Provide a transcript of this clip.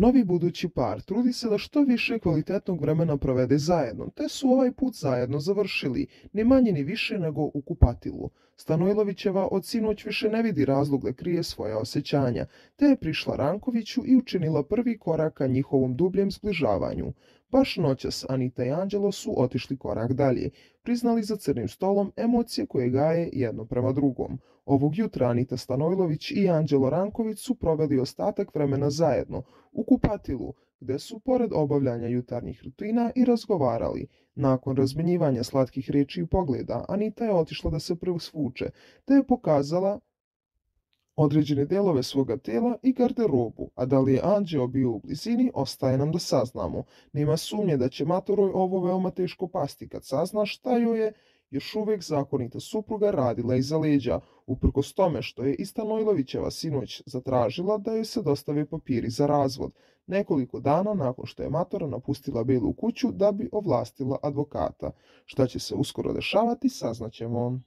Novi budući par trudi se da što više kvalitetnog vremena provede zajedno, te su ovaj put zajedno završili, ni manje ni više nego u kupatilu. Stanojlovićeva od sinoć više ne vidi razlog da krije svoja osjećanja, te je prišla Rankoviću i učinila prvi korak ka njihovom dubljem zbližavanju. Baš noćas Anita i Anđelo su otišli korak dalje, priznali za crnim stolom emocije koje gaje jedno prema drugom. Ovog jutra Anita Stanojlović i Anđelo Ranković su proveli ostatak vremena zajedno, u kupatilu, gde su, pored obavljanja jutarnjih rutina, i razgovarali. Nakon razmenjivanja slatkih riječi i pogleda, Anita je otišla da se presvuče, te je pokazala određene delove svoga tela i garderobu, a da li je Anđeo bio u blizini, ostaje nam da saznamo. Nema sumnje da će matoroj ovo veoma teško pasti kad sazna šta joj je još uvek zakonita supruga radila iza leđa, uprkos tome što je i Stanojlovićeva sinoć zatražila da joj se dostave papiri za razvod, nekoliko dana nakon što je matora napustila Belu kuću da bi ovlastila advokata. Šta će se uskoro dešavati, saznaćemo.